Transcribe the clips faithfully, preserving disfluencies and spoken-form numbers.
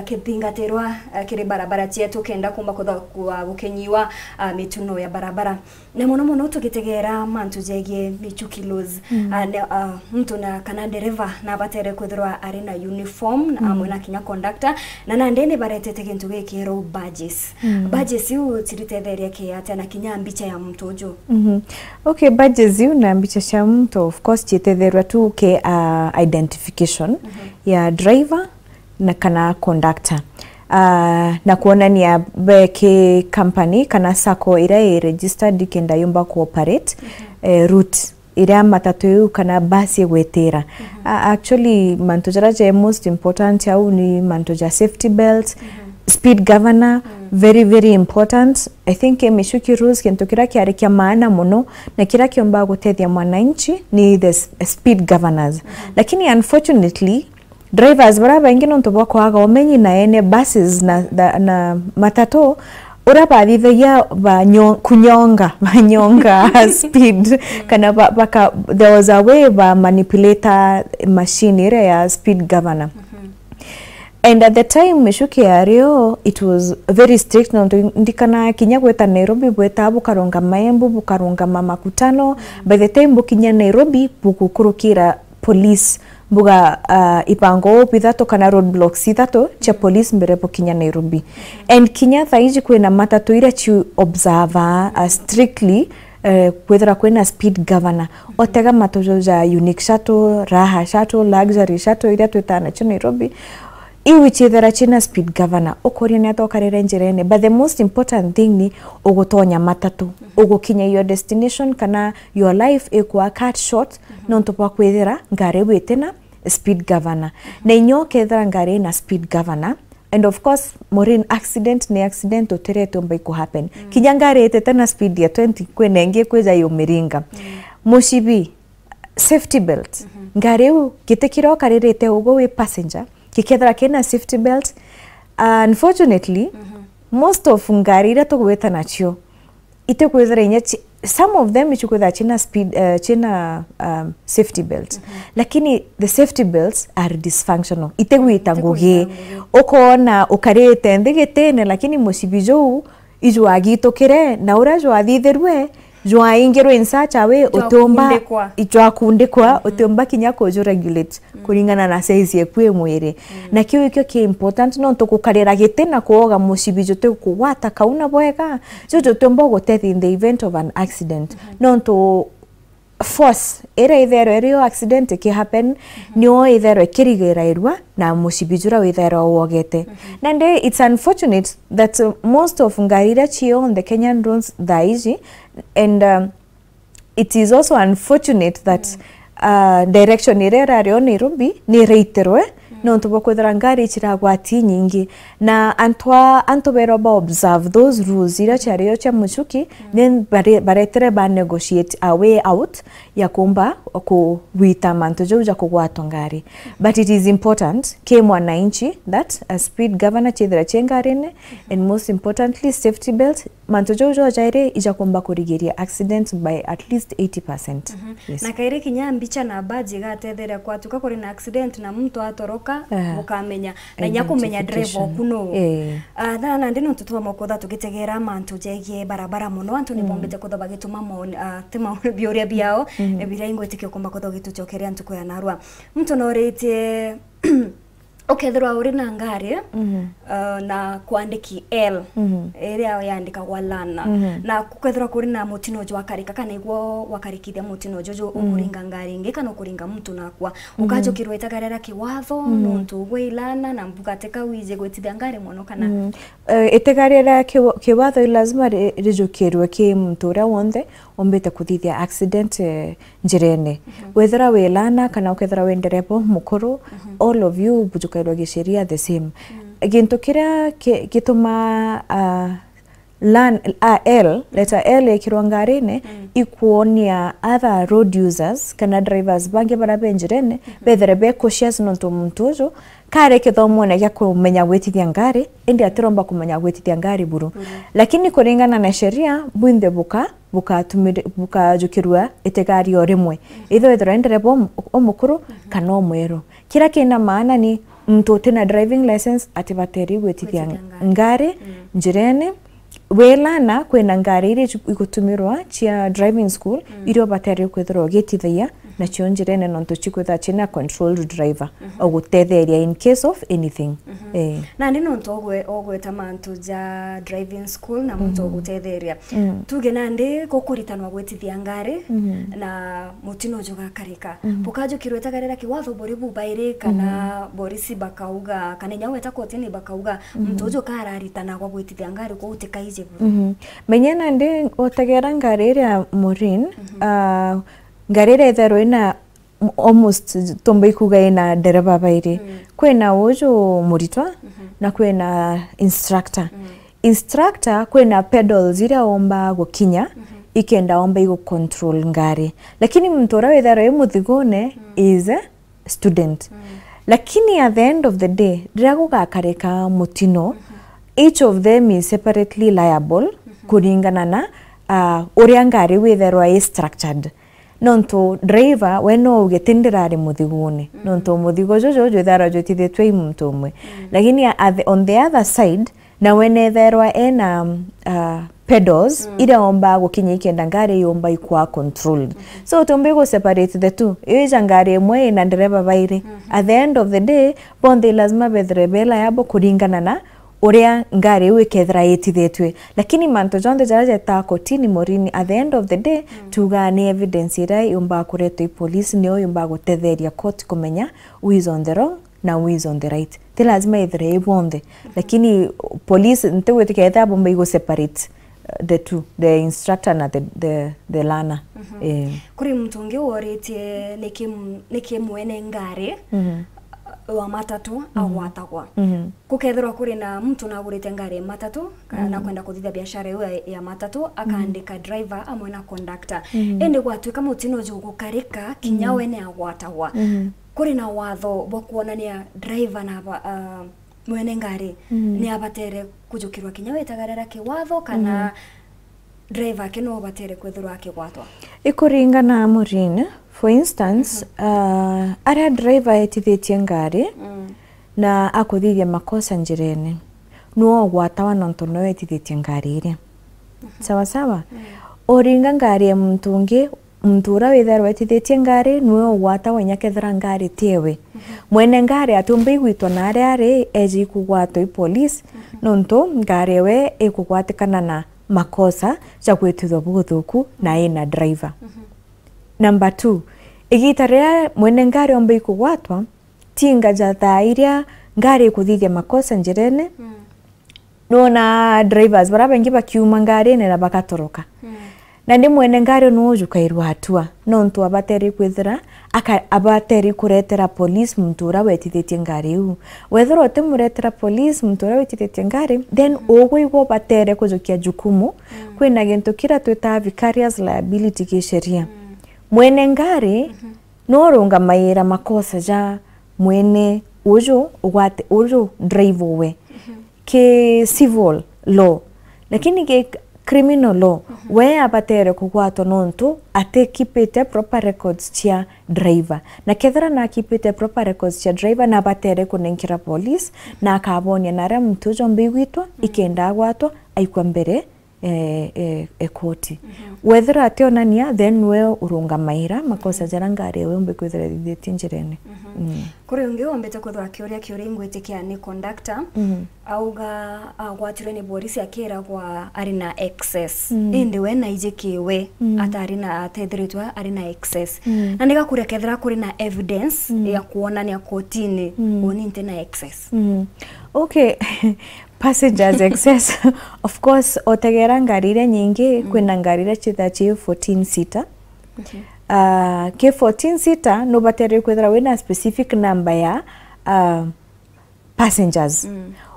kithingatirwa, eh, kiri barabara cietu kenda kumba kutha-, kwa gukinyiwa, ah, mituno ya barabara. Na mono mono tugitegeera mantu jegie michuki laws. Mm. Ah, ne-, ah, muntu na kana ndereva nabatere kwithirwa ari na uniform, na Mm. amwe na kinya conductor, na nandi ni baretete gintu gikirwo badges. Mm. Badges iu ciritetheria ki atia na kinya mbicha ya muntu uju? Mhm. Okay, badges iu na mbicha cia muntu, of course, cietetherwa tu ki, ah, identification Mhm. ya driver na kana conductor. Ah, na kuonania be ki company kana sacco iria i registered kenda yumba ku operate, Mhm. eh, route iria matatu iu kana bus igwitira. Mhm. Ah, actually, mantu jaria je most important au ni mantu ja safety belt, Mhm. speed governor, Mm. very, very important. I think, eh, michuki rules, kintu kiria kiari kia maana mono na kiria kiumba gutethia mwananchi ni the s-, speed governors. Mhm. Lakini unfortunately, drivers baria baingi nontu bwa kwaga umenyi na ene buses na, na, na matatu, uria bathithagia banyo-, kunyonga, banyonga speed, kana ba-, baka-, there was a way ba manipulate machine iria ya speed governor. Mhm. And at the time michuki yario, it was very strict, nontu ndikana kinya gweta Nairobi, bweta bukarungama Embu, bukarungama Makutano. By the time bukinya Nairobi, bugukurukira police, buga, ah, ibango bithatu kana roadblocks ithatu cia police mbere bukinya Nairobi. And kinya thaa iji kwina matatu iria ci observe, ah, strictly, eh, kwithira kwina speed governor. Otega matatu ja unique shuttle, raha shuttle, luxury shuttle iria twitaga nacio Nairobi. Iu iciithira cina speed governor, ukoria ni atia ukarire njirene. But the most important thing ni ugutonya matatu, ugukinya your destination, kana your life ikwa cut short, nontu bwa kwithira ngari iu itina speed governor. Na inya ukethira ngari ina speed governor, and of course, Maureen, accident ni accident, utirete umba iku happen. Mm. Kinya ngari itete na speed ya twenty, kwina ingi ikwija yumiringa. Mm. Mucibi, safety belt. Mhm. Ngari iu, giti kiria ukaririte ugu wi passenger, gikethira kina safety belt. Unfortunately, Mhm. most of ngari iria tugwita nacio, itikwithira inya ci-, some of them ichikwithira china speed, eh, china, um, safety belt. Mhm. Lakini the safety belts are dysfunctional. Itigwita ngugi. Itigwita ngugi. Ukona ukarite nthi gitine, lakini mucibi juu ijwagitukire, na uria jwathithirwe, jwaingirwe in such a way, utiumba, Jwakundikwa. ijwakundikwa, Mhm. utiumba kinya kuju regulate. Mm. Kuringana na size eku e mwiri. Mm. Na kiu ikio ki important, nontu gukarira giti na kuoga mucibi juti kugwata kauna bwega, juju jutiumba gutethia in the event of an accident. Mhm. Nontu force iria itherwe irio accident iki happen, Mhm. nio itherwe ikirigirairua na mucibi juria witherwa wogete. Mhm. Nandi it's unfortunate that, uh, most of ngari iria cio on the Kenyan roads thaa iji, and, um, it is also unfortunate that, Mm. uh, direction iria irari o Nairobi ni iraitirwe, Mm. nontu bwa kwithira ngari iciragwati nyingi. Na antu a, antu berwa ba observe those rules iria ciario cia muchuki, Mm. then bare-, baretire ba negotiate a way out ya kumba kugwita mantu jau ja kugwatwa ngari. But it is important ki mwananchi that a speed governor chithira chi ngarine, Mm-hmm. and most importantly, safety belt, mantu jau jo jairi ijakumba kurigiria accident by at least eighty percent. Mhm. Yes. Na kairi kinya mbicha na badge igatetheria kwatuka kuri na accident na muntu atoroka, Ah. ukamenya. Na inya kumenya driver Identification. Oku nuu. Eh. Ah, na, na nandi nontu twamokotha tugitegera mantu jegie barabara mono, antu ni Mm. bombite kutha bagituma maoni, ah, ti maoni biuria biao, Mhm. eh, biria ingwitikia kumba kutha ugitucokeria ntuku ya narua. Muntu noritie, ukethirwa uri na ngari, Mhm. uh, na kwandiki L, Mhm. iria yandikagwa lana. Mhm. Na kukethirwa kuri na mutino jwa karika, kana igwo wakarikithia mutino juju, Mhm. ukuringa ngari ingi, kana ukuringa muntu nakwa. Mhm. Ukajukirwa itega riria kiwatho, Mhm. nontu ugwe ilana, na mbuga tika wije gwitithia ngari mono, kana Mhm. Eh, itega riria kiwa-, kiwatho i lazima ri-, rijukirwe ki muntu uria wonthe umbite kuthithia accident, eh, njirene. Mhm. Wethira wi lana kana ukethira wi ndereba mukuru, Mhm. all of you bujukairwa gisheria the same. Mm. Gintu kiria ki-, gituma, ah, lan-, ah, L, letter L ikirwa ngarine, Mm. ikuonia other road users kana drivers bangi baria be njirene, Mhm. bethere be cautious nontu muntu uju kari kithomone gia kumenya gwitithia ngari, indi atiromba kumenya gwitithia ngari buru. Buru. Lakini kuringana na sheria, bwinthe buka, bukatumiri-, bukajukirua itega rio rimwe. Mhm. Either wethirwa i ndereba um-, umukuru Mhm. kana umweru. Kiria kina maana ni Muntu utina driving license atibateeri gwitithia ngari njirene. Wi learner, kwina ngari iria icu-, igutumirwa cia driving school, iria ubateeri kwithirwa ugitithagia nacio njirene, nontu cikwithirwa cina controlled driver, ugutetheria in case of anything. Eh. Nandi nontu ugwe-, ugweta mantu ja driving school na muntu ugutetheria. Tuge nandi gukuritanwa gwitithia ngari na mutino jugakarika. Bukajukirwa itagarira kiwatho buri bubairi kana borisi bakauga, kana inya weta kotini bakauga, muntu uju kararitanagwa gwitithia ngari kuu utikaije buru. Menya nandi utegera ngari iria Maureen, ah, ngari iria itherwa ina almost tumba ikuga ina ndereba bairi. Kwina uju muritwa na kwina instructor. Instructor kwina pedals iria omba gukinya ikenda omba igu control ngari. Lakini muntu uria witherwa i muthigone is a student. Lakini at the end of the day, riria gugakarika mutino, each of them is separately liable kuringana na, ah, uria ngari witherwa i structured. Nontu driver we no uge ti ndirari muthigune, nontu muthigo juju jwithairwa jwitithitue i muntu umwe. Lakini at the, on the other side, nawe nethairwa ena, uh, pedals iria omba gukinya ikenda ngari yomba ikwa controlled. So tumbi gu separate the two. Ija ngari imwe ina ndereba bairi. At the end of the day, bonthe lazima bethire be liable kuringana na uria ngari iu ikethira itithitue. Lakini mantu jonthe jaria jetaa kotini, Maureen, at the end of the day, tugaa ni evidence iria yumbaga kuretwa i police, niyo yumbaga gutetheria court kumenya who is on the wrong na who is on the right. Ti lazima ithire i bonthe. Lakini police, ntigwitikia ethira bomba igu separate, uh, the two, the instructor na the, the, the learner. Eh. Kuri muntu ungi woritie niki m-, niki mwene ngari wa matatu agwatagwa. Gukethirwa kuri na muntu nagurite ngari ya matatu, kana nakwenda kuthithia biashara iu ya, ya matatu, akaandika driver amwe na conductor. Indi gwatuika mutino jugukarika, kinya we ni agwatagwa. Kuri na watho bwa kuonania driver na ba-, ah, mwene ngari ni abatere kujukirwa kinya witagarira kiwatho, kana driver ake no abatere kwithirwa akigwatwa? Ikuringana, Maureen. For instance, ah, aria driver etithitie ngari na akuthithia makosa njirene, niwe ugwatawa nontu niwe wetithitie ngari iria. Sawa sawa? Uringa ngari ya muntu ungi, muntu uria withairwa etithitie ngari niwe ugwatagwa inya kethira ngari ti ewe. Mwene ngari atiumba igwitwa na aria ari eji kugwatwa i police, nontu ngari ewe ikugwatikana na makosa ja gwitithwa buthuku na ina driver. Number two, igita riria mwene ngari omba ikugwatwa, tinga ja thaa iria ngari ikuthithia makosa njirene, nona drivers baria baingi bakiuma ngarine na bagatoroka. Nandi mwene ngari niwe ujukairwa hatua, nontu abateri kwithira aka-, abateri kuretera police muntu uria wetithitie ngari iu. Wethirwa utimuretera police muntu uria wetithitie ngari, then ugwe igwe ubatere kujukia jukumu. Kwina gintu kiria twitaa vicarious liability gi sheria. Mwene ngari no urungamaira makosa ja mwene uju ugwate, uju driver we. Ki civil law. Lakini ki criminal law, we abatere kugwatwa nontu atikipite proper records cia driver. Na kethira nakipite proper records cia driver, nabatere kunenkera police, na akabonia naria muntu uju omba igwitwa, ikenda agwatwa, aikwa mbere e, e, e koti. Wethira ationania, then we urungamaira makosa jaria ngari ewe umbi kwithira ithithitie njirene. Kuri ungi wombite kwithirwa akiuria kiuria ingwitikia ni conductor, auga agwatirwe ni borisi akiragwa ari na excess. Indi we naijikiwe atari na, atethiritwe ari na excess. Na nigakuria kethira kuri na evidence ya kuonania kotini uni nti na excess. Okay. Passengers excess. Of course, otegera ngari iria nyingi, kwina ngari iria cithaa ci fourteen seater. Ah, ki fourteen seater, nubatere kwithira wina specific number ya, ah, passengers.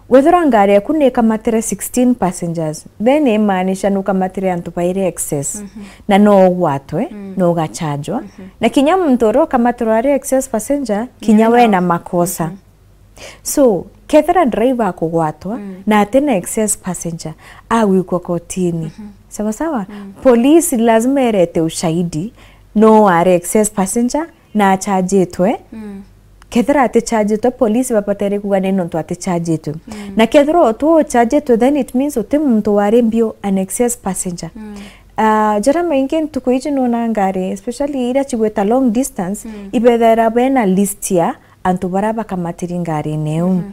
Wethirwa ngari yaku ni ikamatire sixteen passengers, then imaanisha nukamatire antu bairi excess. Na no ugwatwe, no ugachajwa. Na kinya muntu uria ukamatirwa ari excess passenger, kinya we na makosa. So, kethira driver akugwatwa na atina excess passenger, agwikwa kotini. Sawa sawa? Police lazima irete ushahidi no ari excess passenger na achajitwe Kethira atichajitwe, police babatere kuuga ni nontu atichajitwe. Mm. Na kethira utu uchajitwe, then it means uti muntu wari mbio, an excess passenger. Mm. Ah, jaria maingi ntuku iji nona ngari, especially iria cigwita long distance, mm, ibethera bena list ya antu baria bakamatiri ngarine iu. Mhm.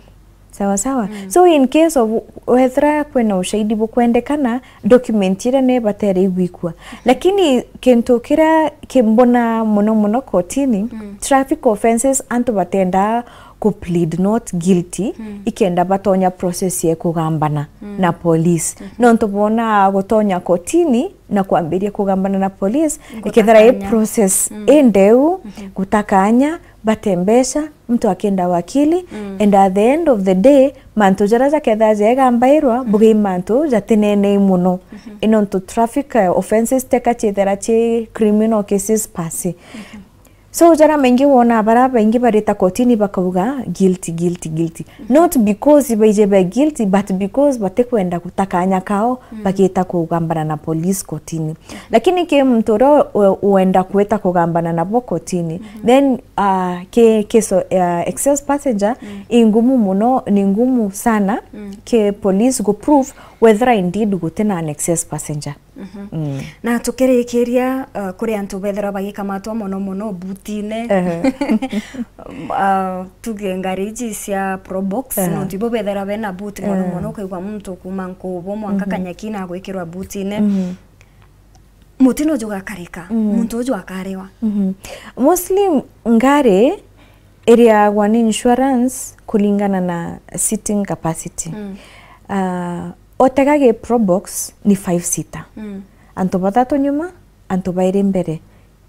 Sawa sawa. Mm. So in case of wethira kwina ushahidi bukwendekana, document iria ni batere igwikua. Lakini kintu kiria kimbona muno muno kotini, mm, traffic offences antu batenda ku plead not guilty, mm, ikenda batonya process ya kugambana, mm, na police. Mhm. Nontu bona gutonya kotini na kwambiria kugambana na police, ikethira i process, mm, indeu, mhm, gutakanya, bate mbeca, muntu akenda wakili, mm, and at the end of the day, mantu jaria jakethira jegambairwa, mm, bugi mantu jatinenei muno. Mhm. Inontu traffic, eh, offences teka ciethira ci criminal cases pasi. Mhm. So, jaria maingi wona baria baingi barita kotini bakauga, "Guilty, guilty, guilty." Mhm. Not because baije be guilty, but because batikwenda guta kanya kao, mm, bagita kugambana na police kotini. Lakini ki muntu uria u-, uenda kwita kugambana nabo kotini, mhm, then, ah, ki, ki so, ah, excess passenger, mm, i ngumu muno, ni ngumu sana, mm, ki police gu prove whether indeed gutina an excess passenger. Mhm. Mm. Na tukirikiria, uh, kuri antu bethirwa bagikamatwa mono mono butine. Ehe. Uh, tuge ngari iji cia Probox, ehe, nontu ibo bethirwa bena boot mono, ehe, mono, ukaigua muntu kuma Nkubu mwanka, mhm, Kanyaki na gwikirwa butine. Mhm. Mutino jugakarika, mm, muntu uju akariwa. Mhm. Mostly ngari iriagwa ni insurance kuringana na seating capacity. Mm. Uh, Otega gi Probox ni five seater. Mm. Antu bathatu nyuma, antu bairi mbere,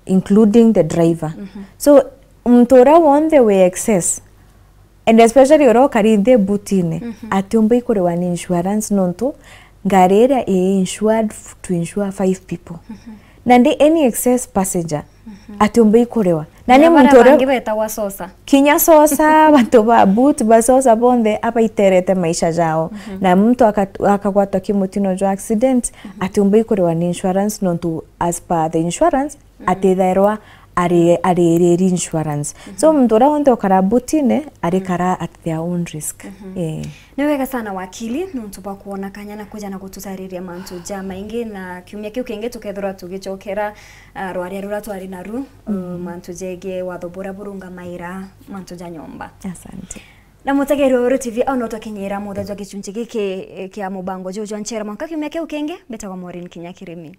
including the driver. Mhm. So, muntu uria wonthe wi excess, and especially uria ukari nthi butine, mhm, atiumba ikuriwa ni insurance nontu ngari iria i insured f-, to insure five people. Mhm. Nandi any excess passenger, mhm, atiumba ikuriwa. Na ni muntu uria bangi betagwa sosa. Kinya sosa, bantu ba boot, ba sosa bonthe abaiterete maisha jao. Mhm. Na muntu aka-, akagwatwa ki mutino jwa accident, mhm, atiumba ikuriwa ni insurance nontu as per the insurance, mhm, atithairwa ari, aririri insurance. So, mhm, muntu uria wonthe ukara butine, arikara, mhm, at their own risk. Mhm. Eh. Ni wega sana wakili, nontu bwa kwona kanya na kuja na gututariria mantu ja maingi, na kiumia kiu kingi tukethirwa tugicokera, ah, rwaria ruria twari naru, uh, mm, mantu jegie watho buria burungamaira mantu ja nyomba. Asante. Na mutegeri wa Weru T V, au no twakinyira muthe jwa gichunchi giki, eh, kia mubango juju jwa Nchera Mwanka. Kiumia kiu kingi, mbitagwa Maureen Kinya Kirimi.